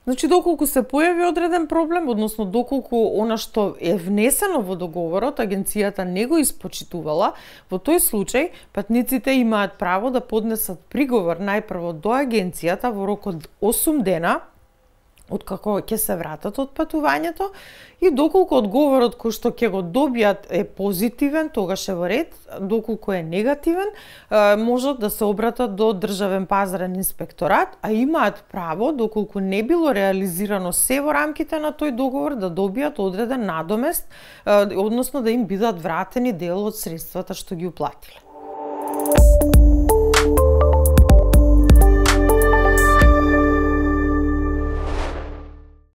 Значи, доколку се појави одреден проблем, односно доколку она што е внесено во договорот, агенцијата не го испочитувала, во тој случај патниците имаат право да поднесат приговор најпрво до агенцијата во рок од 8 дена, откако ќе се вратат од патувањето, и доколку одговорот кој што ќе го добијат е позитивен, тогаш е во ред, доколку е негативен, можат да се обратат до Државен пазарен инспекторат, а имаат право, доколку не било реализирано се во рамките на тој договор, да добијат одреден надомест, односно да им бидат вратени дел од средствата што ги уплатиле.